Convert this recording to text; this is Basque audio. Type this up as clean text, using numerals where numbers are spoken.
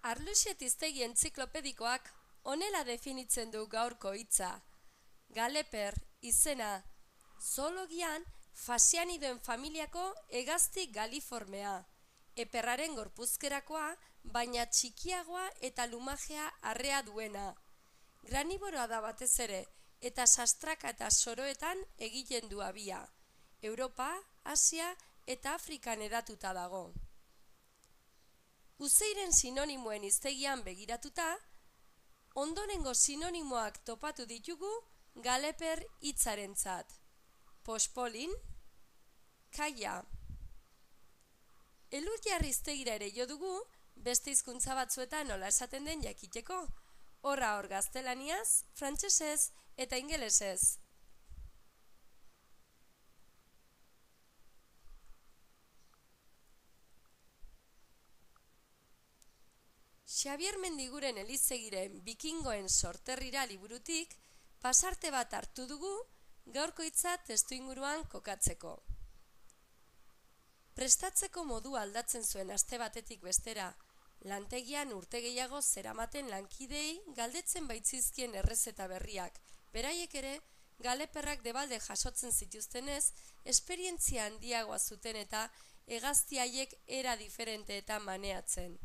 Arluxet hiztegi entziklopedikoak honela definitzen du gaurko hitza. Galeper izena zoologian fasianidoen familiako hegazti galiformea. Eperraren gorpuzkerakoa, baina txikiagoa eta lumajea arrea duena. Graniboroa da batez ere, eta sastraka eta soroetan egiten du abia. Europa, Asia eta Afrikan hedatuta dago. Uzeiren sinonimoen hiztegian begiratuta, ondorengo sinonimoak topatu ditugu galeper hitzarentzat. Pospolin, kaia. Elurjarri hiztegira ere jo dugu, beste hizkuntza batzuetan nola esaten den jakiteko. Horra hor gaztelaniaz, frantsesez eta ingelesez. Xabier Mendiguren Elizegiren Bikingoen sorterrira liburutik pasarte bat hartu dugu gaurko hitza testuinguruan kokatzeko. Prestatzeko modu aldatzen zuen aste batetik bestera, lantegian urte gehiago zeramaten lankidei galdetzen baitzizkien errezeta berriak, beraiek ere galeperrak debalde jasotzen zituztenez, esperientzia handiagoa zuten eta hegazti haiek era diferenteetan maneatzen.